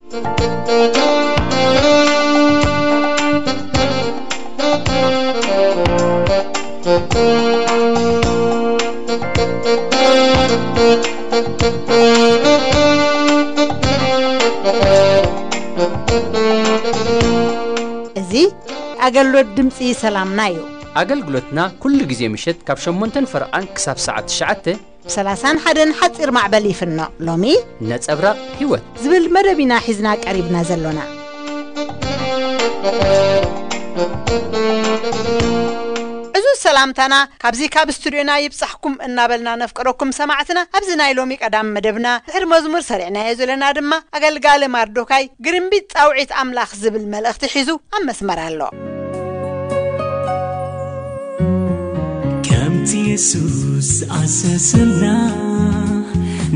እዚ ኣገልግሎት ድምፂ ሰላምና እዩ። ኣገልግሎትና ኩሉ ግዜ ምሸት ካብ ሸሞንተን ፈረቓን ክሳብ ሰዓት ትሽዓተ ብ ሰላሳን ሓደን ሓፂር ማዕበል ይፍኖ። ሎሚ ነጸብራቕ ህይወት ዝብል መደብ ኢና ሒዝና ቀሪብና ዘሎና። እዚ ሰላምታና ካብዚ ካብ ስቱድዮና ይብጻሕኩም እናበልና ነፍቅረኩም ሰማዕትና። ኣብዚ ናይ ሎሚ ቀዳም መደብና ድሕሪ መዝሙር ሰሪዕናዮ ዘለና ድማ ኣገልጋሊ ማርዶካይ ግርምቢጥ ጻውዒት ኣምላኽ ዝብል መልእኽቲ ሒዙ ኣብ መስመር ኣሎ። ከምቲ የሱስ ዝኣዘዘና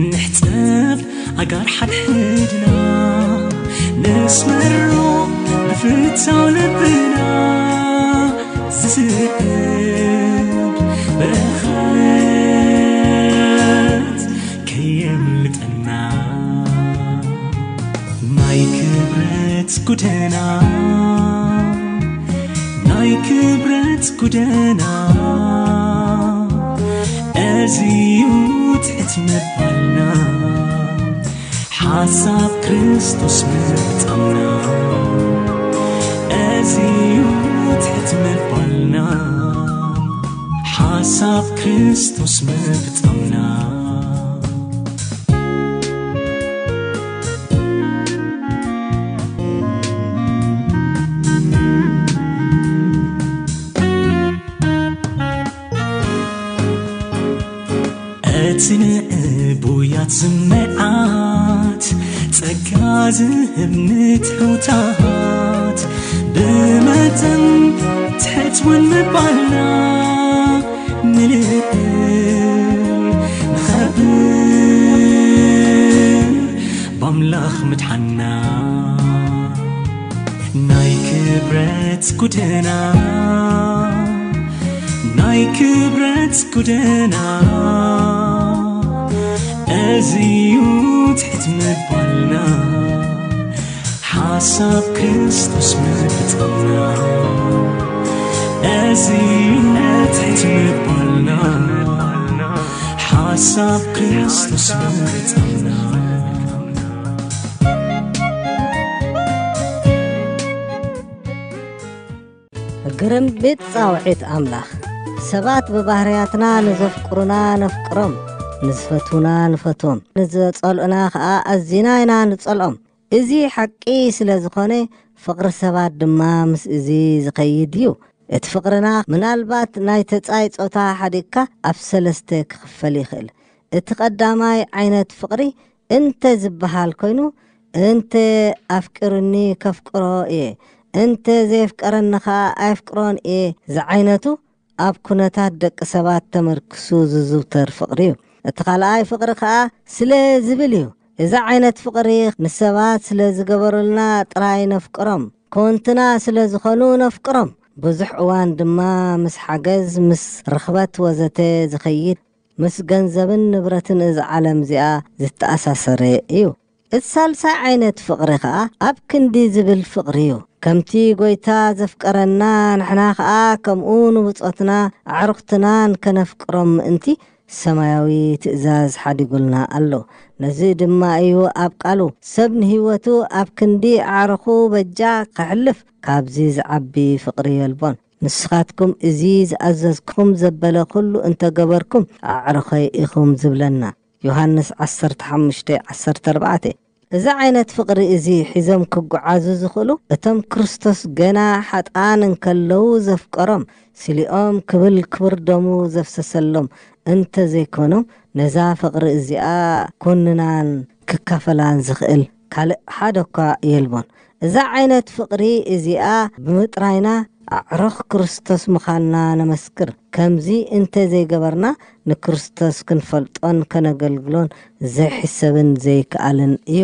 ንሕጸብ ኣጋር ሓድሕድና ነስመሮ ብፍታው ልብና ዝስእል በረኸት ከየምልጠና ናይ ክብረት ጎደና ናይ ክብረት ጎደና እዚዩ ትሕት ምባልና ሓሳብ ክርስቶስ ምፍጻምና እዚዩ ትሕት ምባልና ሓሳብ ክርስቶስ ምፍጻምና እቲ ንእቡያት ዝመዓት ጸጋ ዝህብ ንትሑታት ብመጠን ትሕት እውን ምባልና ንልእል ንኸብር ብኣምላኽ ምድሓና ናይ ክብረት ጎደና ናይ ክብረት ጎደና እዚዩ ትሕት ምባልና ሓሳብ ክርስቶስ ምፍጻምና እዚዩ ትሕት ምባልና ሓሳብ ክርስቶስ ምፍጻምና ግርምቢጥ ጻውዒት ኣምላኽ። ሰባት ብባህርያትና ንዘፍቅሩና ነፍቅሮም፣ ንዝፈትዉና ንፈትዎም፣ ንዘጸልኡና ኸኣ ኣዚና ኢና ንጸልኦም። እዚ ሓቂ ስለ ዝኾነ፣ ፍቕሪ ሰባት ድማ ምስ እዚ ዝኸይድ እዩ። እቲ ፍቕርና ምናልባት ናይ ተጻይ ጾታ ሓዲግካ ኣብ ሰለስተ ክኽፈል ይኽእል። እቲ ቀዳማይ ዓይነት ፍቕሪ እንተ ዝበሃል ኮይኑ፣ እንተ ኣፍቂሩኒ ከፍቅሮ እየ፣ እንተ ዘየፍቀረኒ ኸኣ ኣየፍቅሮን እየ ዝዓይነቱ ኣብ ኩነታት ደቂ ሰባት ተመርኪሱ ዝዝውተር ፍቕሪ እዩ። እቲ ካልኣይ ፍቕሪ ኸኣ ስለ ዝብል እዩ። እዚ ዓይነት ፍቕሪ ንሰባት ስለ ዝገበሩልና ጥራይ ነፍቅሮም፣ ኮንትና ስለ ዝኾኑ ነፍቅሮም። ብዙሕ እዋን ድማ ምስ ሓገዝ፣ ምስ ርኽበት ወዘተ ዝኸይድ፣ ምስ ገንዘብን ንብረትን እዛ ዓለም እዚኣ ዝተኣሳሰረ እዩ። እቲ ሳልሳይ ዓይነት ፍቕሪ ኸኣ ኣብ ክንዲ ዝብል ፍቕሪ እዩ። ከምቲ ጐይታ ዘፍቀረና ንሕና ኸኣ ከምኡ ንብጾትና ኣዕሩኽትናን ከነፍቅሮም ምእንቲ ሰማያዊ ትእዛዝ ሓዲጉልና ኣሎ። ነዚ ድማ እዩ ኣብ ቃሉ፣ "ሰብ ንህይወቱ ኣብ ክንዲ ኣዕሩኹ በጃ ኸሕልፍ፣ ካብዚ ዝዓቢ ፍቕሪ የልቦን። ንስኻትኩም እዚ ዝኣዘዝኩኹም ዘበለ ኹሉ እንተ ገበርኩም ኣዕሩኸይ ኢኹም" ዝብለና። ዮሃንስ ዓሰርተ ሓሙሽተ ዓሰርተ ኣርባዕተ። እዚ ዓይነት ፍቕሪ እዚ ሒዞም ክጓዓዙ ዝኽእሉ፣ እቶም ክርስቶስ ገና ሓጥኣን እንከለዉ ዘፍቀሮም፣ ስሊኦም ክብል ክብር ደሙ ዘፍሰሰሎም እንተ ዘይኮኖም፣ ነዛ ፍቕሪ እዚኣ ኮንናን ክካፈላን ዝኽእል ካልእ ሓደ እኳ የልቦን። እዛ ዓይነት ፍቕሪ እዚኣ ብምጥራይና ኣዕሩኽ ክርስቶስ ምዃንና ነመስክር። ከምዚ እንተ ዘይገበርና፣ ንክርስቶስ ክንፈልጦን ከነገልግሎን ዘይሕሰብን ዘይከኣልን እዩ።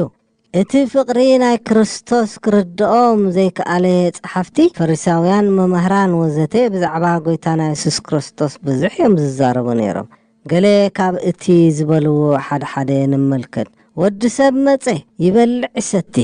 እቲ ፍቕሪ ናይ ክርስቶስ ክርድኦም ዘይከኣለ ጸሓፍቲ፣ ፈሪሳውያን፣ መማህራን ወዘተ ብዛዕባ ጐይታና የሱስ ክርስቶስ ብዙሕ እዮም ዝዛረቡ ነይሮም። ገለ ካብ እቲ ዝበልዎ ሓደ ሓደ ንመልከት። "ወዲ ሰብ መጸ፣ ይበልዕ ይሰቲ፣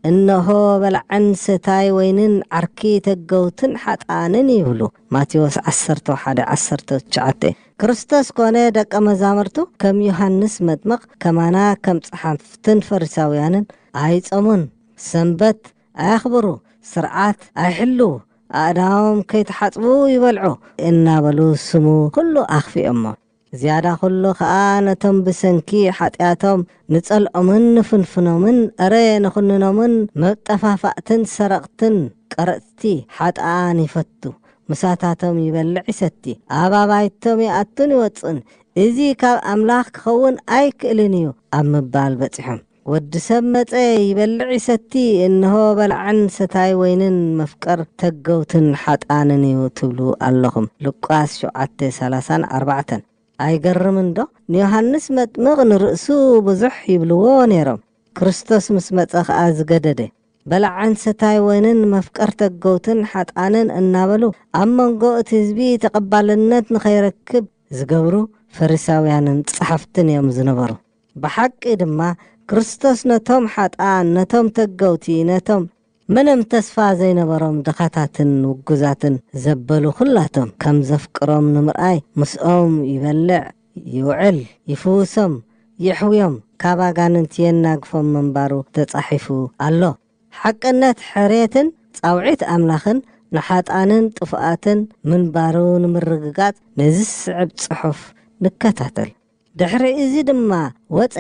እነሆ በላዕን ሰታይ ወይንን ዓርኪ ተገውትን ሓጥኣንን ይብሉ። ማቴዎስ ዓሰርተ ሓደ ዓሰርተ ትሽዓተ። ክርስቶስ ኮነ ደቀ መዛሙርቱ ከም ዮሃንስ መጥምቕ ከማና ከም ጸሓፍትን ፈሪሳውያንን ኣይጸሙን፣ ሰንበት ኣየኽብሩ፣ ስርዓት ኣይሕልዉ፣ ኣእዳዎም ከይተሓጽቡ ይበልዑ እናበሉ ስሙ ኩሉ ኣኽፊኦሞ። ዝያዳ ኩሉ ኸኣ ነቶም ብሰንኪ ሓጢኣቶም ንጸልኦምን ንፍንፍኖምን፣ እረ ንኹንኖምን መጠፋፋእትን ሰረቕትን ቀረጽቲ ሓጥኣን ይፈቱ። ምሳታቶም ይበልዕ ይሰቲ፣ ኣብ ኣባይቶም ይኣቱን ይወጽኡን። እዚ ካብ ኣምላኽ ክኸውን ኣይክእልን እዩ ኣብ ምባል በጺሖም። ወዲ ሰብ መጸ ይበልዕ ይሰቲ፣ እንሆ በላዕን ሰታይ ወይንን መፍቀር ተገውትን ሓጥኣንን እዩ ትብሉ ኣለኹም። ሉቃስ ሸውዓተ ሰላሳን ኣርባዕተን። ኣይገርምን ዶ? ንዮሃንስ መጥምቕ ንርእሱ ብዙሕ ይብልዎ ነይሮም። ክርስቶስ ምስ መጸ ኸኣ ዝገደደ። በላዕን ሰታይ ወይንን መፍቀር ተገውትን ሓጥኣንን እናበሉ ኣብ መንጎ እቲ ህዝቢ ተቐባልነት ንኸይረክብ ዝገብሩ ፈሪሳውያንን ጸሓፍትን እዮም ዝነበሩ። ብሓቂ ድማ ክርስቶስ ነቶም ሓጥኣን፣ ነቶም ተገውቲ፣ ነቶም ምንም ተስፋ ዘይነበሮም ድኻታትን ውጉዛትን ዘበሉ ኩላቶም ከም ዘፍቅሮም ንምርኣይ ምስኦም ይበልዕ፣ ይውዕል፣ ይፍውሶም፣ የሕውዮም፣ ካብ ኣጋንንቲ የናግፎም ምንባሩ ተጻሒፉ ኣሎ። ሓቅነት ሕርየትን ጻውዒት ኣምላኽን ንሓጣንን ጥፉኣትን ምንባሩ ንምርግጋጽ ነዚ ዝስዕብ ጽሑፍ ንከታተል። ድሕሪ እዚ ድማ ወጸ።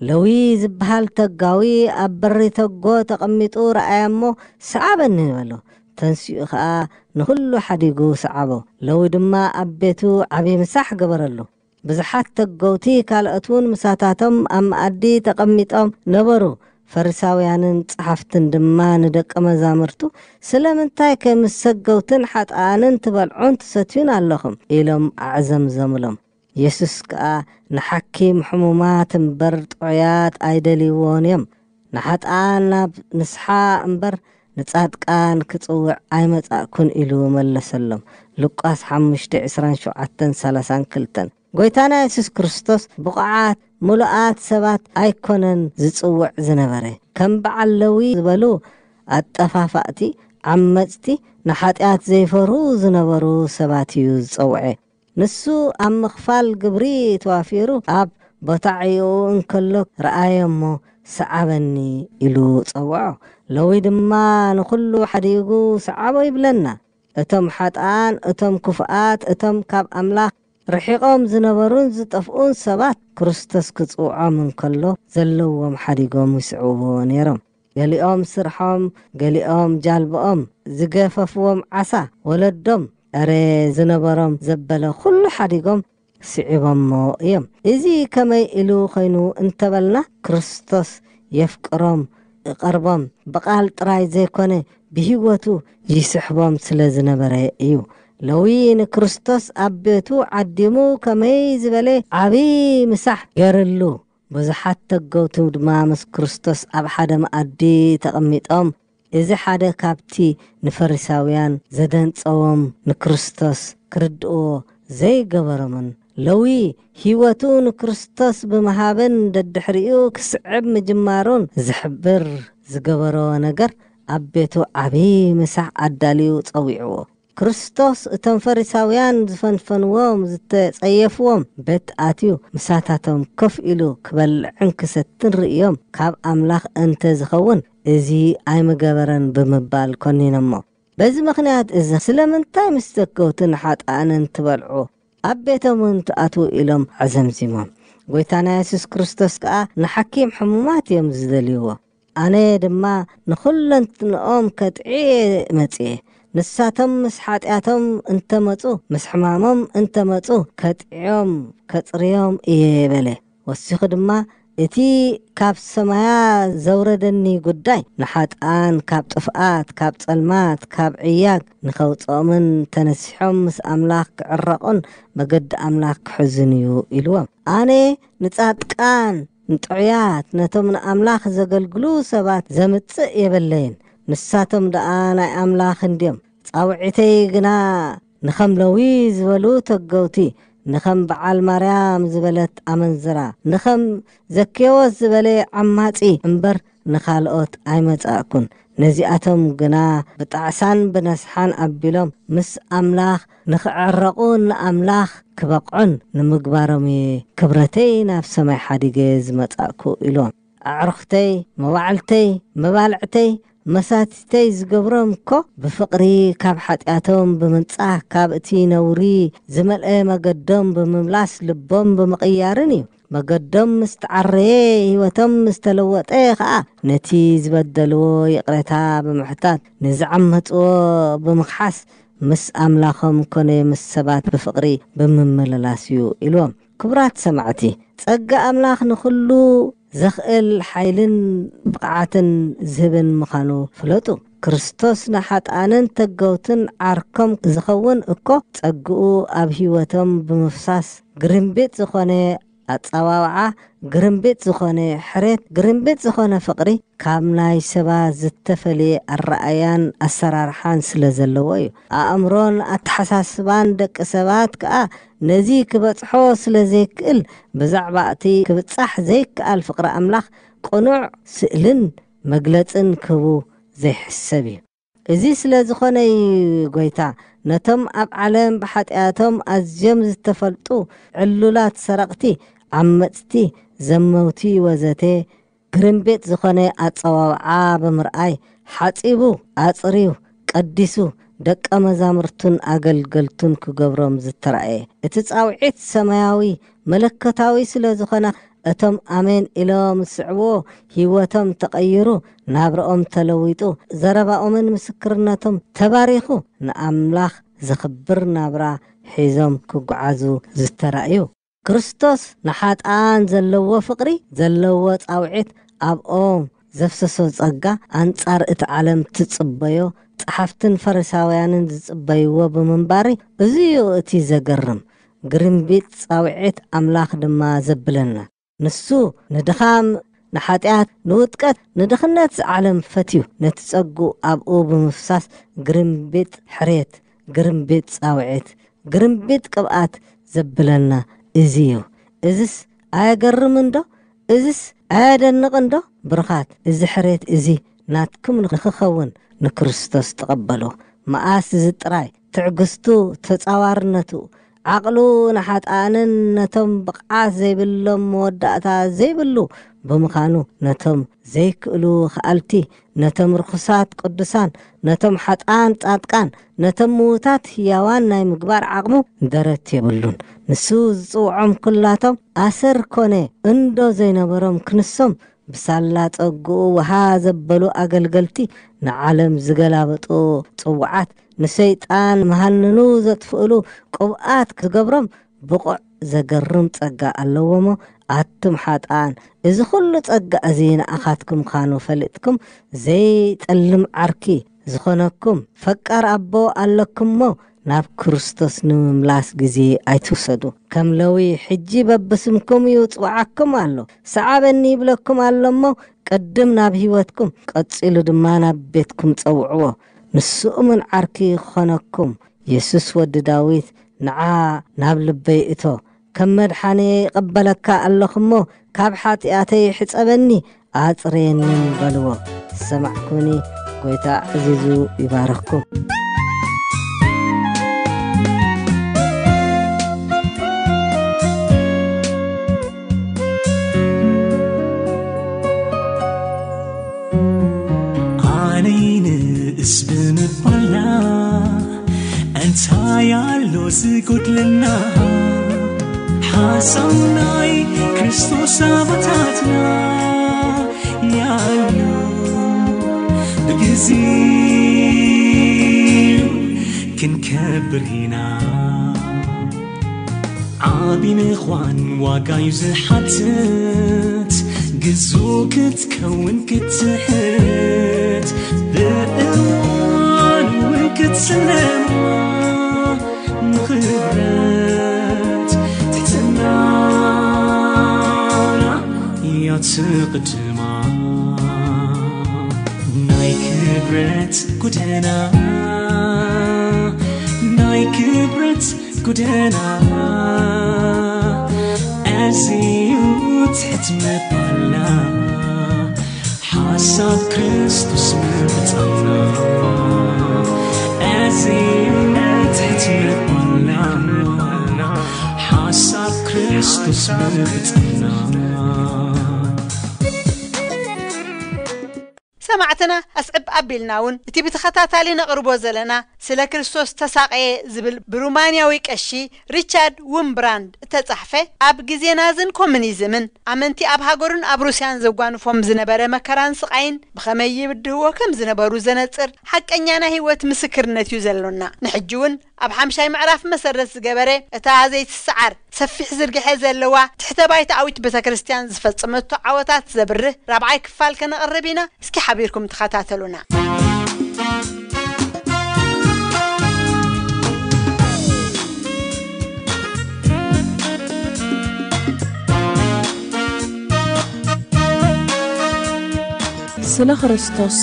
ለዊ ዝበሃል ተጋዊ ኣብ በሪ ተጎ ተቐሚጡ ረኣየ እሞ፣ "ሰዓበኒ" በሎ። ተንሲኡ ኸኣ ንኹሉ ሓዲጉ ሰዓቦ። ለዊ ድማ ኣብ ቤቱ ዓቢ ምሳሕ ገበረሉ። ብዙሓት ተገውቲ ካልኦት እውን ምሳታቶም ኣብ መኣዲ ተቐሚጦም ነበሩ። ፈሪሳውያንን ጸሓፍትን ድማ ንደቀ መዛሙርቱ፣ "ስለምንታይ ከ ምስ ሰገውትን ሓጥኣንን ትበልዑን ትሰትዩን ኣለኹም?" ኢሎም ኣዕዘምዘሙሎም። የሱስ ከኣ፣ "ንሓኪም ሕሙማት እምበር ጥዑያት ኣይደልይዎን እዮም። ንሓጥኣን ናብ ንስሓ እምበር ንጻድቃን ክጽውዕ ኣይመጻእኩን" ኢሉ መለሰሎም። ሉቃስ ሓሙሽተ ዕስራን ሸውዓተን ሰላሳን ክልተን። ጎይታና የሱስ ክርስቶስ ብቑዓት ምሉኣት ሰባት ኣይኮነን ዝጽውዕ ዝነበረ። ከም በዓል ለዊ ዝበሉ ኣጠፋፋእቲ፣ ዓመጽቲ፣ ንሓጢኣት ዘይፈርሁ ዝነበሩ ሰባት እዩ ዝጸውዐ። ንሱ ኣብ ምኽፋል ግብሪ ተዋፊሩ ኣብ ቦታ ዕዮኡ እንከሎ ረኣየ እሞ፣ "ሰዓበኒ" ኢሉ ጸውዖ። ለዊ ድማ ንኹሉ ሓዲጉ ሰዓቦ ይብለና። እቶም ሓጥኣን፣ እቶም ክፉኣት፣ እቶም ካብ ኣምላኽ ርሒቖም ዝነበሩን ዝጠፍኡን ሰባት ክርስቶስ ክጽውዖም እንከሎ ዘለዎም ሓዲጎም ይስዕብዎ ነይሮም። ገሊኦም ስርሖም፣ ገሊኦም ጃልብኦም፣ ዝገፈፍዎም ዓሳ፣ ወለዶም፣ እረ ዝነበሮም ዘበለ ኩሉ ሓዲጎም ስዒቦሞ እዮም። እዚ ከመይ ኢሉ ኾይኑ እንተበልና፣ ክርስቶስ የፍቅሮም፣ ይቐርቦም፣ ብቓል ጥራይ ዘይኮነ ብህይወቱ ይስሕቦም ስለ ዝነበረ እዩ። ለዊ ንክርስቶስ ኣብ ቤቱ ዓዲሙ ከመይ ዝበለ ዓቢ ምሳሕ ገርሉ። ብዙሓት ተገውቱ ድማ ምስ ክርስቶስ ኣብ ሓደ መኣዲ ተቐሚጦም፣ እዚ ሓደ ካብቲ ንፈሪሳውያን ዘደንጸዎም ንክርስቶስ ክርድእዎ ዘይገበሮምን ለዊ ህይወቱ ንክርስቶስ ብምሃብን ደድሕሪኡ ክስዕብ ምጅማሩን ዝሕብር ዝገበሮ ነገር ኣብ ቤቱ ዓቢ ምሳሕ ኣዳልዩ ጸዊዕዎ። ክርስቶስ እቶም ፈሪሳውያን ዝፈንፈንዎም ዝተጸየፍዎም ቤት ኣትዩ ምሳታቶም ኮፍ ኢሉ ክበልዕን ክሰትን ርእዮም ካብ ኣምላኽ እንተ ዝኸውን እዚ ኣይምገበረን ብምባል ኮኒኖሞ። በዚ ምኽንያት እዚ ስለምንታይ ምስ ዘገውትን ሓጥኣንን ትበልዑ ኣብ ቤቶም እውን ትኣትዉ ኢሎም ኣዘምዚሞም። ጎይታና የሱስ ክርስቶስ ከኣ ንሓኪም ሕሙማት እዮም ዝደልይዎ። ኣነ ድማ ንኹለንትንኦም ከጥዕየ መጽየ። ንሳቶም ምስ ሓጢኣቶም እንተመጹ፣ ምስ ሕማሞም እንተመጹ ከጥዕዮም ከጽርዮም እየ በለ። ወሲኹ ድማ እቲ ካብ ሰማያ ዘውረደኒ ጉዳይ ንሓጥኣን ካብ ጥፍኣት፣ ካብ ጸልማት፣ ካብ ዕያግ ንኸውጽኦምን ተነሲሖም ምስ ኣምላኽ ክዕረቑን መገዲ ኣምላኽ ክሕዙን እዩ ኢልዎም። ኣነ ንጻድቃን፣ ንጥዑያት፣ ነቶም ንኣምላኽ ዘገልግሉ ሰባት ዘምጽእ የበለይን። ንሳቶም ደኣ ናይ ኣምላኽ እንድዮም። ጻውዒተይ ግና ንኸም ለዊ ዝበሉ ተገውቲ፣ ንኸም በዓል ማርያም ዝበለት ኣመንዝራ፣ ንኸም ዘኬዎስ ዝበለ ዓማጺ እምበር ንኻልኦት ኣይመጻእኩን። ነዚኣቶም ግና ብጣዕሳን ብነስሓን ኣቢሎም ምስ ኣምላኽ ንኽዕረቑን ንኣምላኽ ክበቕዑን ንምግባሮም እየ ክብረተይ ናብ ሰማይ ሓዲገ ዝመጻእኩ ኢሎም። ኣዕሩኽተይ፣ መዋዕልተይ፣ መባልዕተይ፣ መሳትተይ ዝገብሮም እኮ ብፍቕሪ ካብ ሓጢኣቶም ብምንጻህ ካብ እቲ ነውሪ ዝመልአ መገዶም ብምምላስ ልቦም ብምቕያርን እዩ። መገዶም ምስ ተዓረየ ህይወቶም ምስ ተለወጠ ኸኣ ነቲ ዝበደልዎ ይቕሬታ ብምሕታት ንዝዓመጽዎ ብምኽሓስ ምስ ኣምላኾም ኮነ ምስ ሰባት ብፍቕሪ ብምምልላስ እዩ ኢልዎም። ክቡራት ሰማዕቲ፣ ጸጋ ኣምላኽ ንኹሉ ዘኽእል ሓይልን ብቕዓትን ዝህብን ምዃኑ ፍለጡ። ክርስቶስ ንሓጥኣንን ተገውትን ዓርኮም ዝኸውን እኮ ጸግኡ ኣብ ህይወቶም ብምፍሳስ ግርምቢጥ ዝኾነ ኣጸዋውዓ፣ ግርምቢጥ ዝኾነ ሕሬት፣ ግርምቢጥ ዝኾነ ፍቕሪ ካብ ናይ ሰባት ዝተፈልየ ኣረኣያን ኣሰራርሓን ስለ ዘለዎ እዩ። ኣእምሮን ኣተሓሳስባን ደቂ ሰባት ከኣ ነዚ ክበጽሖ ስለ ዘይክእል ብዛዕባ እቲ ክብጻሕ ዘይከኣል ፍቕሪ ኣምላኽ ቅኑዕ ስእልን መግለጽን ክህቡ ዘይሕሰብ እዩ። እዚ ስለ ዝኾነ እዩ ጎይታ ነቶም ኣብ ዓለም ብሓጢኣቶም ኣዝዮም ዝተፈልጡ ዕሉላት ሰረቕቲ፣ ዓመጽቲ፣ ዘመውቲ ወዘተ ግርምቤጥ ዝኾነ ኣጸዋውዓ ብምርኣይ ሓጺቡ፣ ኣጽርዩ፣ ቀዲሱ ደቀ መዛሙርቱን ኣገልገልቱን ክገብሮም ዝተራእየ። እቲ ጻውዒት ሰማያዊ መለኮታዊ ስለ ዝኾነ እቶም ኣሜን ኢሎም ዝስዕብዎ ህይወቶም ተቐይሩ፣ ናብርኦም ተለዊጡ፣ ዘረባኦምን ምስክርነቶም ተባሪኹ ንኣምላኽ ዘኽብር ናብራ ሒዞም ክጓዓዙ ዝተራእዩ። ክርስቶስ ንሓጥኣን ዘለዎ ፍቕሪ ዘለዎ ጻውዒት ኣብኦም ዘፍሰሶ ጸጋ ኣንጻር እቲ ዓለም ትጽበዮ ጸሓፍትን ፈሪሳውያንን ዝጽበይዎ ብምንባሪ እዚዩ እቲ ዘገርም ግርምቢጥ ጻውዒት ኣምላኽ ድማ ዘብለና። ንሱ ንድኻም፣ ንሓጢኣት፣ ንውድቀት፣ ንድኽነት ዝዓለም ፈትዩ ነቲ ጸጉ ኣብኡ ብምፍሳስ ግርምቢጥ ሕሬት፣ ግርምቢጥ ጻውዒት፣ ግርምቢጥ ቅብኣት ዘብለና እዚ እዩ። እዝስ ኣየገርምን ዶ? እዝስ ኣየደንቕን ዶ? ብሩኻት፣ እዚ ሕሬት እዚ ናትኩም ንኽኸውን ንክርስቶስ ተቐበሉ። መኣስ እዚ ጥራይ ትዕግስቱ፣ ተጻዋርነቱ፣ ዓቕሉ ንሓጥኣንን ነቶም ብቕዓት ዘይብሎም መወዳእታ ዘይብሉ ብምዃኑ ነቶም ዘይክእሉ ኸኣልቲ፣ ነቶም ርኹሳት ቅዱሳን፣ ነቶም ሓጥኣን ጻድቃን፣ ነቶም ምዉታት ህያዋን ናይ ምግባር ዓቕሙ ደረት የብሉን። ንሱ ዝጽውዖም ኩላቶም ኣሰር ኮነ እንዶ ዘይነበሮም ክንሶም ብሳላ ጸግኡ ወሃ ዘበሉ ኣገልገልቲ ንዓለም ዝገላበጡ ጽውዓት ንሰይጣን መሃንኑ ዘጥፍእሉ ቅብኣት ክገብሮም ብቑዕ ዘገርም ጸጋ ኣለዎ እሞ ኣቱም ሓጥኣን እዚ ኹሉ ጸጋ እዚ ንኣኻትኩም ምዃኑ ፈሊጥኩም ዘይጠልም ዓርኪ ዝኾነኩም ፈቃር ኣቦ ኣለኩም እሞ ናብ ክርስቶስ ንምምላስ ግዜ ኣይትውሰዱ። ከም ለዊ ሕጂ በብስምኩም ይጽውዓኩም ኣሎ። ሰዓበኒ ይብለኩም ኣሎ እሞ ቅድም ናብ ህይወትኩም ቀጺሉ ድማ ናብ ቤትኩም ጸውዕዎ። ንሱ እሙን ዓርኪ ክኾነኩም የሱስ ወዲ ዳዊት ንዓ ናብ ልበይ እቶ ከም መድሓኒ ይቐበለካ ኣለኹ እሞ ካብ ሓጢኣተይ ሕጸበኒ ኣጽርየንን በልዎ። ዝሰማዕኩምኒ ጎይታ ኣዕዚዙ ይባርኽኩም። ኣነይ ንእስ ብምባልና እንታይ ኣሎ ዝጎድለና? ሓሳብ ናይ ክርስቶስ ኣባታትና ያሉ ብግዜው ክንከብር ኢና። ዓቢ ምዃን ዋጋ እዩ ዝሓትት፣ ግዙእ ክትከውን ክትትሕት፣ ብእዋን እውን ክትስለማ፣ ንኽብረት ትሕትናና እያ ትቕድማ። ናይ ክብረት ጎደና፣ ናይ ክብረት ጎደና ኣዝዩ ትሕት ምባልና፣ ሓስ ሓሳብ ክርስቶስ ምብጻሕና፣ እዚ እምነት ሕትመት ባና፣ ሓሳብ ክርስቶስ ምብጻሕና። ሰማዕትና ኣስዕብ ኣቢልና እውን እቲ ብተኸታታሊ ነቕርቦ ዘለና ስለ ክርስቶስ ተሳቐየ ዝብል ብሩማንያዊ ቀሺ ሪቻርድ ውምብራንድ እተጻሕፈ፣ ኣብ ግዜ ናዝን ኮሙኒዝምን ኣመንቲ ኣብ ሃገሩን ኣብ ሩስያን ዘጓንፎም ዝነበረ መከራን ስቓይን ብኸመይ ይብድህዎ ከም ዝነበሩ ዘነጽር ሓቀኛ ናይ ህይወት ምስክርነት እዩ ዘሎና። ንሕጂ እውን ኣብ ሓምሻይ ምዕራፍ መሰረት ዝገበረ እታ ዘይትሰዓር ሰፊሕ ዝርግሐ ዘለዋ ትሕተ ባይታኣዊት ቤተ ክርስቲያን ዝፈጸመቶ ዓወታት ዘብርህ ራብዓይ ክፋል ከነቕርብ ኢና። እስኪ ሓቢርኩም ተኸታተሉና። ስለ ክርስቶስ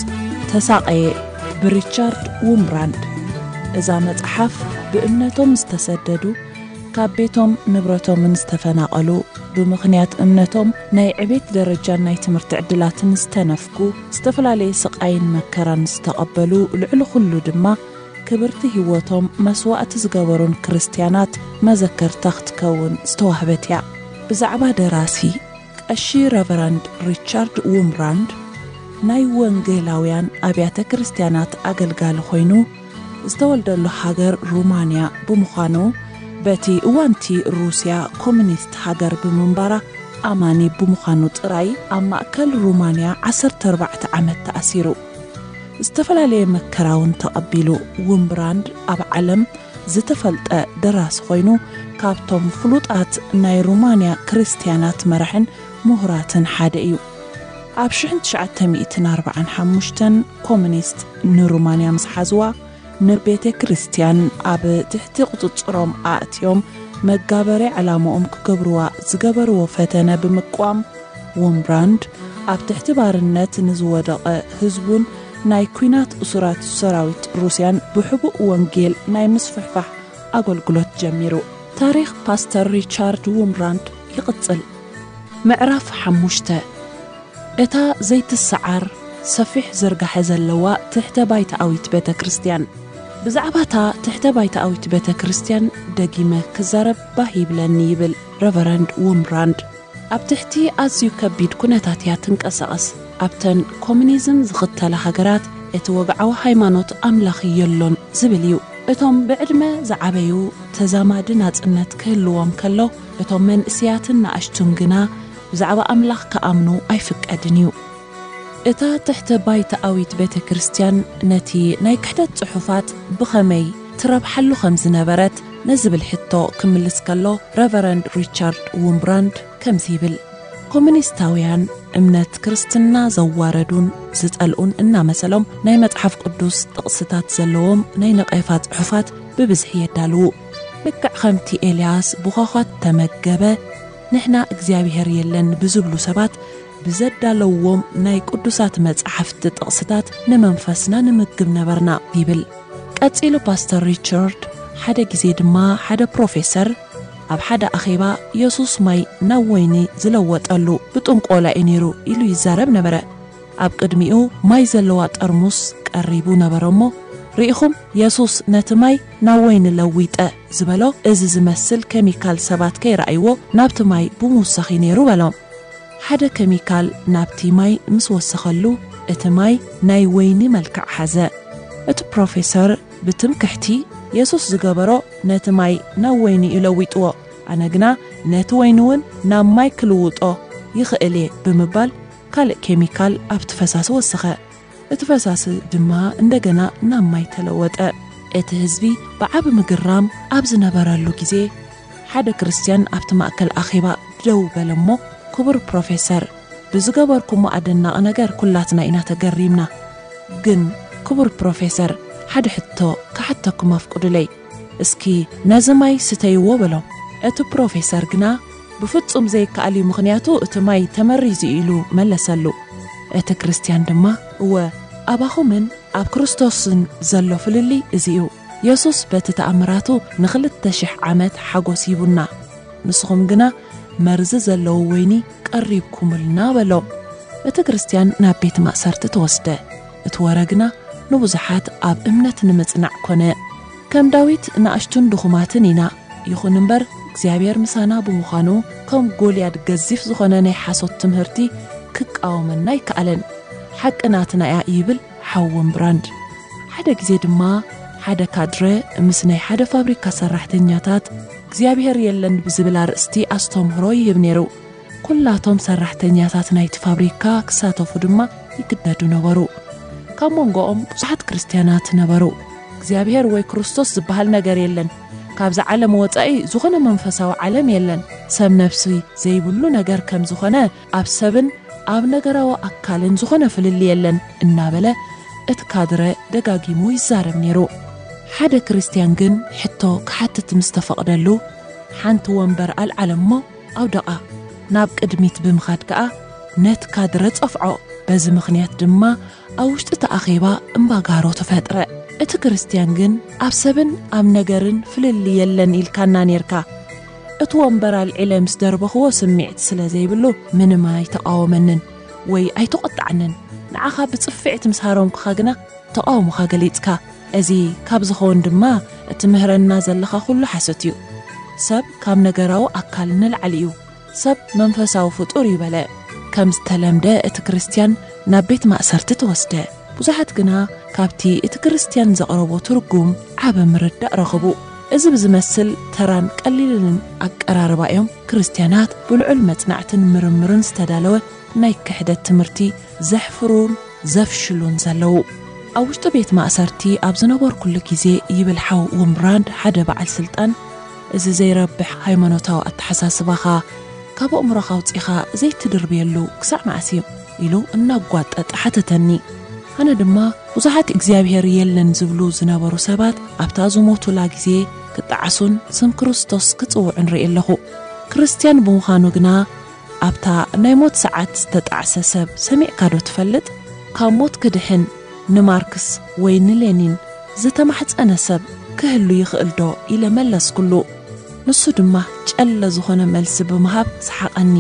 ተሳቐየ፣ ብሪቻርድ ውምብራንድ። እዛ መጽሓፍ ብእምነቶም ዝተሰደዱ፣ ካብ ቤቶም ንብረቶምን ዝተፈናቐሉ፣ ብምኽንያት እምነቶም ናይ ዕቤት ደረጃን ናይ ትምህርቲ ዕድላትን ዝተነፍጉ፣ ዝተፈላለየ ስቓይን መከራን ዝተቐበሉ፣ ልዕሊ ኩሉ ድማ ክብርቲ ህይወቶም መስዋእቲ ዝገበሩን ክርስትያናት መዘከርታ ክትከውን ዝተዋህበት እያ። ብዛዕባ ደራሲ፣ ቀሺ ረቨረንድ ሪቻርድ ውምብራንድ ናይ ወንጌላውያን ኣብያተ ክርስትያናት ኣገልጋሊ ኮይኑ፣ ዝተወልደሉ ሃገር ሩማንያ ብምዃኑ፣ በቲ እዋንቲ ሩስያ ኮሙኒስት ሃገር ብምንባራ፣ ኣማኒ ብምዃኑ ጥራይ ኣብ ማእከል ሩማንያ ዓሰርተ ኣርባዕተ ዓመት ተኣሲሩ። ዝተፈላለየ መከራ እውን ተቐቢሉ። ውምብራንድ ኣብ ዓለም ዝተፈልጠ ደራሲ ኮይኑ፣ ካብቶም ፍሉጣት ናይ ሩማንያ ክርስትያናት መራሕን ምሁራትን ሓደ እዩ። ኣብ ሽሕን ትሽዓተ ሚእትን ኣርባዓን ሓሙሽተን ኮሙኒስት ንሩማንያ ምስ ሓዝዋ፣ ንቤተ ክርስቲያን ኣብ ትሕቲ ቁጽጽሮም ኣእትዮም መጋበርያ ዕላምኦም ክገብርዋ ዝገበርዎ ፈተነ ብምቅዋም፣ ውምብራንድ ኣብ ትሕቲ ባርነት ንዝወደቐ ህዝቡን ናይ ኲናት እሱራት ሰራዊት ሩስያን ብሕቡእ ወንጌል ናይ ምስፍሕፋሕ ኣገልግሎት ጀሚሩ። ታሪኽ ፓስተር ሪቻርድ ውምብራንድ ይቕጽል። ምዕራፍ ሓሙሽተ። እታ ዘይትሰዓር ሰፊሕ ዝርጋሐ ዘለዋ ትሕተ ባይታኣዊት ቤተ ክርስቲያን። ብዛዕባ እታ ትሕተ ባይታኣዊት ቤተ ክርስቲያን ደጊመ ክዛረብ ባህ ይብለኒ ይብል ረቨረንድ ውምብራንድ። ኣብ ትሕቲ ኣዝዩ ከቢድ ኩነታት እያ ትንቀሳቐስ። ኣብተን ኮሙኒዝም ዝኽተላ ሃገራት እቲ ወግዓዊ ሃይማኖት ኣምላኽ የሎን ዝብል እዩ። እቶም ብዕድመ ዝዓበዩ ተዛማዲ ናጽነት ክህልዎም ከሎ፣ እቶም መንእስያትን ንኣሽቱን ግና ብዛዕባ ኣምላኽ ክኣምኑ ኣይፍቀድን እዩ። እታ ትሕተ ባይታኣዊት ቤተ ክርስቲያን ነቲ ናይ ክሕደት ጽሑፋት ብኸመይ ትረብሓሉ ከም ዝነበረት ንዝብል ሕቶ ክምልስ ከሎ፣ ረቨረንድ ሪቻርድ ውምብራንድ ከምዚ ይብል፣ ኮሙኒስታውያን እምነት ክርስትና ዘዋረዱን ዝጸልኡን እናመሰሎም፣ ናይ መጽሓፍ ቅዱስ ጥቕስታት ዘለዎም ናይ ነቐፋ ጽሑፋት ብብዝሒ የዳልዉ። ልክዕ ከምቲ ኤልያስ ብዃዃት ተመገበ፣ ንሕና እግዚኣብሔር የለን ብዝብሉ ሰባት ብዘዳለውዎም ናይ ቅዱሳት መጻሕፍቲ ጥቕስታት ንመንፈስና ንምግብ ነበርና ይብል። ቀጺሉ ፓስተር ሪቻርድ፣ ሓደ ግዜ ድማ ሓደ ፕሮፌሰር ኣብ ሓደ ኣኼባ የሱስ ማይ ናብ ወይኒ ዝለወጠሉ ብጥንቆላ እዩ ነይሩ ኢሉ ይዛረብ ነበረ። ኣብ ቅድሚኡ ማይ ዘለዋ ጠርሙስ ቀሪቡ ነበረ እሞ፣ ርኢኹም የሱስ ነቲ ማይ ናብ ወይኒ ለዊጠ ዝበሎ፣ እዚ ዝመስል ኬሚካል ሰባት ከይረኣይዎ ናብቲ ማይ ብምውሳኽ እዩ ነይሩ በሎም። ሓደ ኬሚካል ናብቲ ማይ ምስ ወሰኸሉ፣ እቲ ማይ ናይ ወይኒ መልክዕ ሓዘ። እቲ ፕሮፌሰር ብትምክሕቲ፣ የሱስ ዝገበሮ ነቲ ማይ ናብ ወይኒ እዩ ለዊጥዎ፣ ኣነ ግና ነቲ ወይኒ እውን ናብ ማይ ክልውጦ ይኽእል እየ ብምባል ካልእ ኬሚካል ኣብቲ ፈሳሲ ወሰኸ። እቲ ፈሳሲ ድማ እንደገና ናብ ማይ ተለወጠ። እቲ ህዝቢ ብዓቢ ምግራም ኣብ ዝነበረሉ ግዜ፣ ሓደ ክርስትያን ኣብቲ ማእከል ኣኼባ ደው በለ እሞ፣ ክቡር ፕሮፌሰር፣ ብዝገበርኩሞ ኣደናቒ ነገር ኩላትና ኢና ተገሪምና። ግን ክቡር ፕሮፌሰር፣ ሓደ ሕቶ ክሓተኩም ኣፍቅዱለይ። እስኪ ነዚ ማይ ስተይዎ በሎ። እቲ ፕሮፌሰር ግና ብፍጹም ዘይከኣል እዩ፣ ምኽንያቱ እቲ ማይ ተመሪዙ እዩ ኢሉ መለሰሉ። እቲ ክርስትያን ድማ፣ እወ፣ ኣባኹምን ኣብ ክርስቶስን ዘሎ ፍልልይ እዚ እዩ። የሱስ በቲ ተኣምራቱ ንኽልተ ሽሕ ዓመት ሓጎስ ሂቡና፣ ንስኹም ግና መርዚ ዘለዎ ወይኒ ቀሪብኩምልና በሎ። እቲ ክርስትያን ናብ ቤት ማእሰርቲ ተወስደ። እቲ ወረ ግና ንብዙሓት ኣብ እምነት ንምጽናዕ ኮነ። ከም ዳዊት ንኣሽቱን ድኹማትን ኢና። ይኹን እምበር፣ እግዚኣብሔር ምሳና ብምዃኑ፣ ከም ጎልያድ ገዚፍ ዝኾነ ናይ ሓሶት ትምህርቲ ክቃወመና ኣይከኣለን። ሓቂ ናትና እያ ይብል ሓው ወምብራንድ። ሓደ ግዜ ድማ ሓደ ካድረ ምስ ናይ ሓደ ፋብሪካ ሰራሕተኛታት እግዚኣብሔር የለን ብዝብል ኣርእስቲ ኣስተምህሮ ይህብ ነይሩ። ኩላቶም ሰራሕተኛታት ናይቲ ፋብሪካ ክሳተፉ ድማ ይግደዱ ነበሩ። ካብ መንጎኦም ብዙሓት ክርስትያናት ነበሩ። እግዚኣብሔር ወይ ክርስቶስ ዝበሃል ነገር የለን። ካብዚ ዓለም ወጻኢ ዝኾነ መንፈሳዊ ዓለም የለን። ሰብ ነፍሲ ዘይብሉ ነገር ከም ዝኾነ፣ ኣብ ሰብን ኣብ ነገራዊ ኣካልን ዝኾነ ፍልልይ የለን እናበለ እቲ ካድረ ደጋጊሙ ይዛረብ ነይሩ። ሓደ ክርስትያን ግን ሕቶ ክሓትት ምስ ተፈቕደሉ፣ ሓንቲ ወንበር ኣልዓለ እሞ ኣውደቓ። ናብ ቅድሚት ብምኻድ ከኣ ነቲ ካድረ ጸፍዖ። በዚ ምኽንያት ድማ ኣብ ውሽጢ እቲ ኣኼባ እምባጋሮ ተፈጥረ። እቲ ክርስትያን ግን ኣብ ሰብን ኣብ ነገርን ፍልልይ የለን ኢልካና ኔርካ። እቲ ወንበር ኣልዒለ ምስ ደርበኽዎ ስምዒት ስለ ዘይብሉ ምንም ኣይተቓወመንን ወይ ኣይተቖጣዓንን። ንዓኻ ብጽፍዒት ምስ ሃረምኩኻ ግና ተቓውሞኻ ገሊጽካ። እዚ ካብ ዝኸውን ድማ እቲ ምህረና ዘለኻ ኩሉ ሓሶት እዩ። ሰብ ካብ ነገራዊ ኣካል ንላዕሊ እዩ። ሰብ መንፈሳዊ ፍጡር እዩ በለ። ከም ዝተለምደ እቲ ክርስትያን ናብ ቤት ማእሰርቲ ተወስደ። ብዙሓት ግና ካብቲ እቲ ክርስትያን ዘቕረቦ ትርጉም ዓቢ ምርዳእ ረኽቡ። እዚ ብዝመስል ተራን ቀሊልን ኣቀራርባ እዮም ክርስትያናት ብልዑል መጽናዕትን ምርምርን ዝተዳለወ ናይ ክሕደት ትምህርቲ ዘሕፍሩን ዘፍሽሉን ዘለዉ። ኣብ ውሽጢ ቤት ማእሰርቲ ኣብ ዝነበርኩሉ ግዜ፣ ይብል ሓው ውምብራንድ፣ ሓደ በዓል ስልጣን፣ እዚ ዘይረብሕ ሃይማኖታዊ ኣተሓሳስባኻ ካብ ኣእምሮኻ ኣውጺኻ ዘይትድርብየሉ ክሳዕ መዓስ እዩ? ኢሉ እናጓጠጠ ሓተተኒ። ኣነ ድማ ብዙሓት እግዚኣብሔር የለን ዝብሉ ዝነበሩ ሰባት ኣብታ ዝሞቱላ ግዜ ክጠዓሱን ስም ክርስቶስ ክጽውዑን ርኢ ኣለኹ። ክርስትያን ብምዃኑ ግና ኣብታ ናይ ሞት ሰዓት ዝተጣዕሰ ሰብ ሰሚዕካ ዶ ትፈልጥ? ካብ ሞት ክድሕን ንማርክስ ወይ ንሌኒን ዝተማሕጸነ ሰብ ክህሉ ይኽእል ዶ? ኢለ መለስኩሉ። ንሱ ድማ ጨለ ዝኾነ መልሲ ብምሃብ ሰሓቐኒ።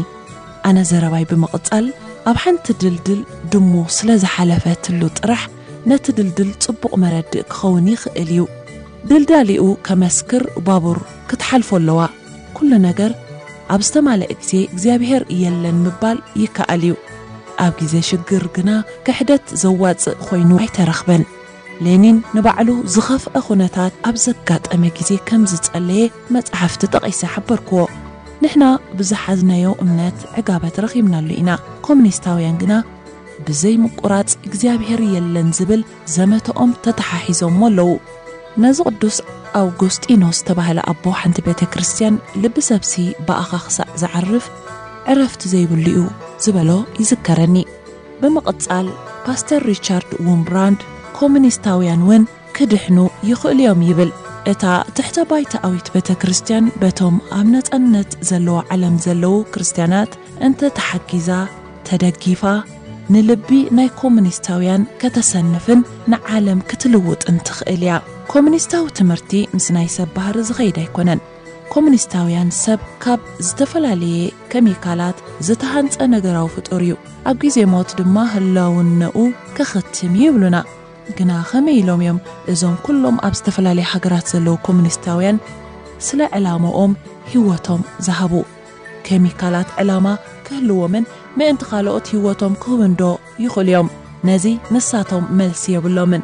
ኣነ ዘረባይ ብምቕጻል፣ ኣብ ሓንቲ ድልድል ድሙ ስለ ዝሓለፈትሉ ጥራሕ ነቲ ድልድል ጽቡቕ መረድእ ክኸውን ይኽእል እዩ። ድልዳሊኡ ከመስክር ባቡር ክትሓልፎ ኣለዋ። ኩሉ ነገር ኣብ ዝተማልአ ግዜ እግዚኣብሔር የለን ምባል ይከኣል እዩ። ኣብ ግዜ ሽግር ግና ክሕደት ዘዋጽእ ኮይኑ ኣይተረኽበን። ሌኒን ንባዕሉ ዝኸፍአ ኩነታት ኣብ ዘጋጠመ ግዜ ከም ዝጸለየ መጻሕፍቲ ጠቒሰ ሓበርክዎ። ንሕና ብዝሓዝናዮ እምነት ዕጋበት ረኺብናሉ ኢና። ኮሙኒስታውያን ግና ብዘይ ምቁራጽ እግዚኣብሔር የለን ዝብል ዘመተኦም ተተሓሒዞሞ ኣለዉ። ነዚ ቅዱስ ኣውጉስጢኖስ ዝተባህለ ኣቦ ሓንቲ ቤተ ክርስቲያን ልቢ ሰብሲ ብኣኻ ክሳዕ ዝዓርፍ ዕረፍቲ ዘይብሉ እዩ ዝበሎ ይዝከረኒ። ብምቕጻል ፓስተር ሪቻርድ ውምብራንድ ኮሙኒስታውያን እውን ክድሕኑ ይኽእሉ እዮም ይብል። እታ ትሕተ ባይታኣዊት ቤተ ክርስቲያን በቶም ኣብ ነጻነት ዘለዎ ዓለም ዘለዉ ክርስትያናት እንተ ተሓጊዛ፣ ተደጊፋ፣ ንልቢ ናይ ኮሙኒስታውያን ከተሰንፍን ንዓለም ክትልውጥን ትኽእል እያ። ኮሙኒስታዊ ትምህርቲ ምስ ናይ ሰብ ባህሪ ዝኸይድ ኣይኮነን። ኮሙኒስታውያን ሰብ ካብ ዝተፈላለየ ኬሚካላት ዝተሃንጸ ነገራዊ ፍጡር እዩ። ኣብ ግዜ ሞት ድማ ህላውነኡ ከኸትም እዩ ይብሉና። ግና ከመይ ኢሎም እዮም እዞም ኩሎም ኣብ ዝተፈላለየ ሃገራት ዘለዉ ኮሙኒስታውያን ስለ ዕላማኦም ህይወቶም ዝሃቡ? ኬሚካላት ዕላማ ክህልዎምን ምእንቲ ካልኦት ህይወቶም ክህቡን ዶ ይኽእሉ እዮም? ነዚ ንሳቶም መልሲ የብሎምን።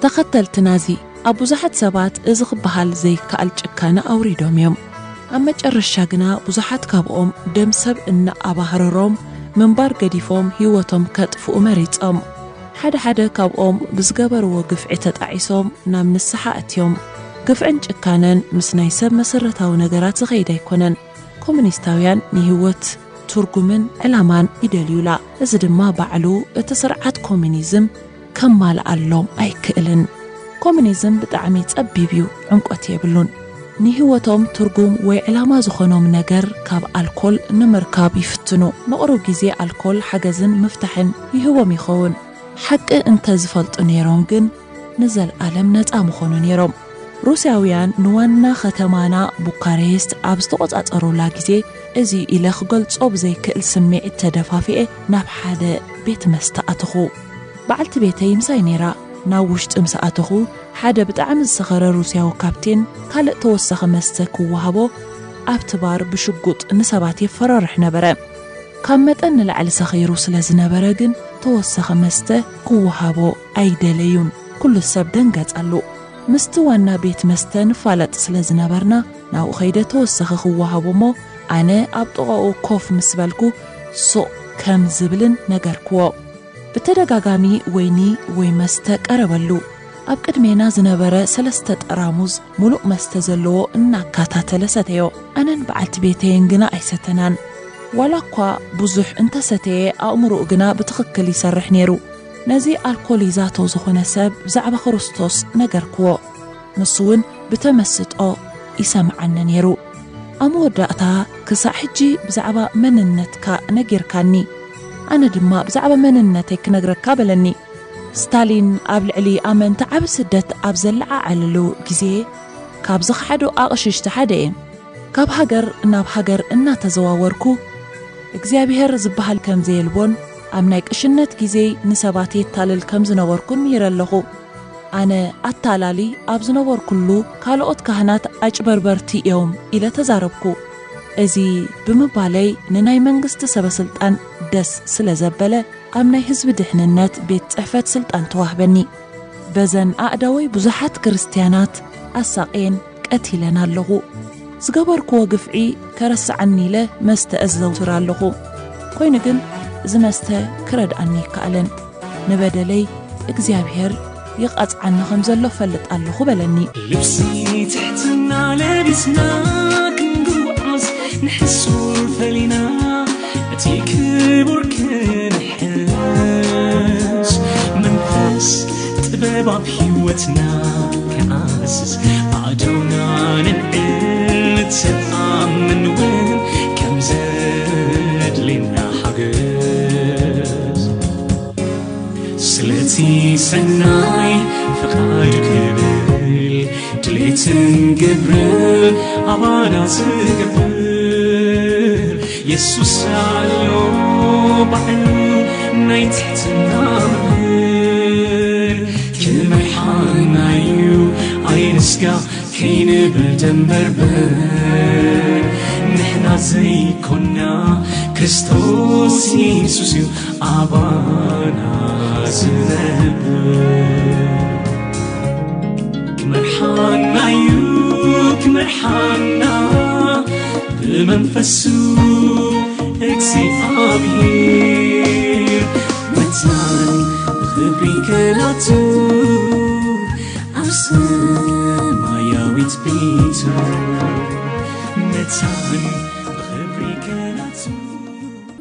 ተኸተልቲ ናዚ ኣብ ብዙሓት ሰባት እዚ ክበሃል ዘይከኣል ጭካነ ኣውሪዶም እዮም። ኣብ መጨረሻ ግና ብዙሓት ካብኦም ደም ሰብ እናኣባህረሮም ምንባር ገዲፎም ህይወቶም ከጥፍኡ መሪጾም። ሓደ ሓደ ካብኦም ብዝገበርዎ ግፍዒ ተጣዒሶም ናብ ንስሓ ኣትዮም። ግፍዕን ጭካነን ምስ ናይ ሰብ መሰረታዊ ነገራት ዝኸይድ ኣይኮነን። ኮሙኒስታውያን ንህይወት ትርጉምን ዕላማን ይደልዩላ። እዚ ድማ ባዕሉ እቲ ስርዓት ኮሙኒዝም ከማልኣሎም ኣይክእልን። ኮሙኒዝም ብጣዕሚ ጸቢብ እዩ፣ ዕምቆት የብሉን። ንህይወቶም ትርጉም ወይ ዕላማ ዝኾኖም ነገር ካብ ኣልኮል ንምርካብ ይፍትኑ። ንቑሩብ ግዜ ኣልኮል ሓገዝን ምፍታሕን ይህቦም ይኸውን። ሓቂ እንተ ዝፈልጡ ነይሮም ግን ንዘልኣለም ነጻ ምኾኑ ነይሮም። ሩስያውያን ንዋና ከተማና ቡካሬስት ኣብ ዝተቖጻጸሩላ ግዜ እዚ ኢለ ክገልጾ ብዘይክእል ስምዒት ተደፋፊኤ ናብ ሓደ ቤት መስተ ኣተኹ። በዓልቲ ቤተይ ምሳይ ነይራ። ናብ ውሽጢ ምስ ኣተኹ፣ ሓደ ብጣዕሚ ዝሰኸረ ሩስያዊ ካፕቴን ካልእ ተወሳኺ መስተ ክወሃቦ ኣብቲ ባር ብሽጉጥ ንሰባት የፈራርሕ ነበረ። ካብ መጠን ንላዕሊ ሰኺሩ ስለ ዝነበረ ግን ተወሳኺ መስተ ክወሃቦ ኣይደለዩን። ኩሉ ሰብ ደንገጸሉ። ምስቲ ዋና ቤት መስተ ንፋለጥ ስለ ዝነበርና ናብኡ ኸይደ ተወሳኺ ክወሃቦ እሞ ኣነ ኣብ ጥቓኡ ኮፍ ምስ በልኩ ሱቕ ከም ዝብልን ነገርክዎ። ብተደጋጋሚ ወይኒ ወይ መስተ ቀረበሉ። ኣብ ቅድሜና ዝነበረ ሰለስተ ጠራሙዝ ምሉእ መስተ ዘለዎ እናካታተለ ሰተዮ። ኣነን በዓልቲ ቤተይን ግና ኣይሰተናን። ዋላ እኳ ብዙሕ እንተሰተየ ኣእምሮኡ ግና ብትኽክል ይሰርሕ ነይሩ። ነዚ ኣልኮል ይዛቶ ዝኾነ ሰብ ብዛዕባ ክርስቶስ ነገርክዎ። ንሱ እውን ብተመስጦ ይሰምዓኒ ነይሩ። ኣብ መወዳእታ ክሳዕ ሕጂ ብዛዕባ መንነትካ ነጊርካኒ፣ ኣነ ድማ ብዛዕባ መንነተይ ክነግረካ በለኒ። ስታሊን ኣብ ልዕሊ ኣመንቲ ዓቢ ስደት ኣብ ዘለዓዓለሉ ግዜ ካብ ዝኸሓዱ ኣቕሽሽቲ ሓደ እየ። ካብ ሃገር ናብ ሃገር እናተዘዋወርኩ እግዚኣብሔር ዝበሃል ከም ዘየልቦን ኣብ ናይ ቅሽነት ግዜይ ንሰባት የታልል ከም ዝነበርኩን ምሂረ ኣለኹ። ኣነ ኣታላሊ ኣብ ዝነበርኩሉ ካልኦት ካህናት ኣጭበርበርቲ እዮም ኢለ ተዛረብኩ። እዚ ብምባለይ ንናይ መንግስቲ ሰበስልጣን ደስ ስለ ዘበለ ኣብ ናይ ህዝቢ ድሕንነት ቤት ጽሕፈት ስልጣን ተዋህበኒ። በዘን ኣእዳወይ ብዙሓት ክርስትያናት ኣሳቕየን ቀቲለን ኣለኹ። ዝገበርክዎ ግፍዒ ከረስዓኒ ኢለ መስተ እዘውትር ኣለኹ። ኮይኑ ግን እዚ መስተ ክረድኣኒ ኣይከኣለን። ንበደለይ እግዚኣብሔር ይቐጽዓኒ ከም ዘሎ ፈልጥ ኣለኹ በለኒ። ልብሲ ትሕትና ለቢስና ክንጉዓዝ ንሕሱር ፈሊና እቲ ክቡር ክንሕስ መንፈስ ጥበብ ኣብ ህይወትና ክዓስስ ኣእዳውና ንንዕል ንተኣምን እውን ከም ዘድልና ሓገዝ ስለቲ ሰናይ ፍቓድ ክብል ድሌትን ግብርን ኣባና ዝገብር የሱስ ኣሎ ባዕሉ ናይ ትሕትና መምህር ክመርሓና እዩ ኣይንስጋ ከይንብል ደንበርበር ንሕና ዘይኮና ክርስቶስ የሱስ እዩ ኣባና ዝነብር ክመርሓና እዩ ክመርሓና ብመንፈሱ እግዚኣብሔር መታን ብኽብሪ ከላቱ ኣብ ሰማያዊት ቤቱ መታን ብኽብሪ ከላቱ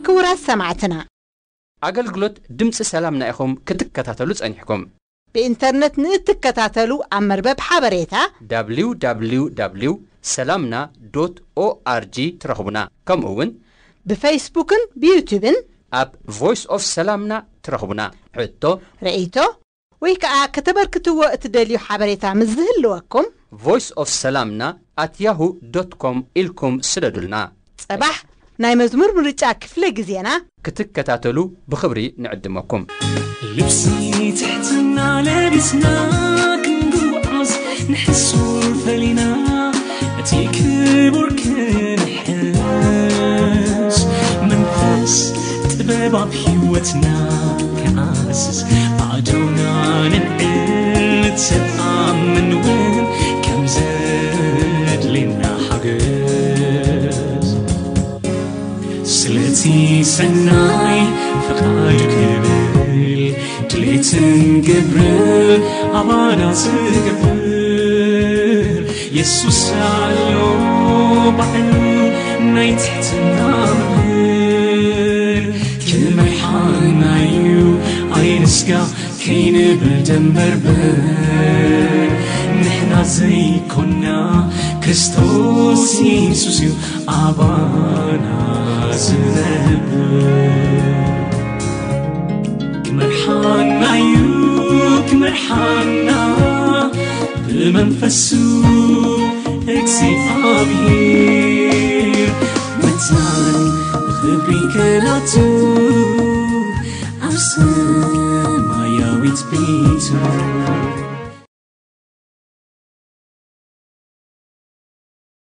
ክቡራት ሰማዕትና ኣገልግሎት ድምፂ ሰላምና ኢኹም ክትከታተሉ ጸኒሕኩም። ብኢንተርነት ንእትከታተሉ ኣብ መርበብ ሓበሬታ www ሰላምና ዶት ኦኣርጂ ትረኽቡና። ከምኡ እውን ብፌስቡክን ብዩቱብን ኣብ ቮይስ ኦፍ ሰላምና ትረኽቡና። ሕቶ ርእይቶ ወይ ከዓ ከተበርክትዎ እትደልዩ ሓበሬታ ምስ ዝህልወኩም ቮይስ ኦፍ ሰላምና ኣት ያሁ ዶት ኮም ኢልኩም ስደዱልና። ጸባሕ ናይ መዝሙር ምርጫ ክፍለ ግዜና ክትከታተሉ ብኽብሪ ንዕድመኩም። ልብሲ ትሕትና ለቢስና ክንጉዓዝ ንሕሱር ፈሊና እቲ ክቡር ክንሕስ መንፈስ ጥበብ ኣብ ህይወትና ክዓስስ ኣእዳውና ንንዕል ንተኣምን እውን ከም ዘድልና ሓገዝ ስለቲ ሰናይ ፍቓድ ክብል ድሌትን ግብርን ኣባና ዝገብር የሱስ ኣሎ ባዕሉ ናይ ትሕትና መምህር ክመርሓና እዩ ኣይንስጋ ከይንብል ደንበርበር ንሕና ዘይኮና ክርስቶስ የሱስ እዩ ኣባና ዝነብር ክመርሓና እዩ ክመርሓና ብመንፈሱ እግዚኣብሔር ክብሪ ከናቱ ኣብ ሰማያዊት ቤቱ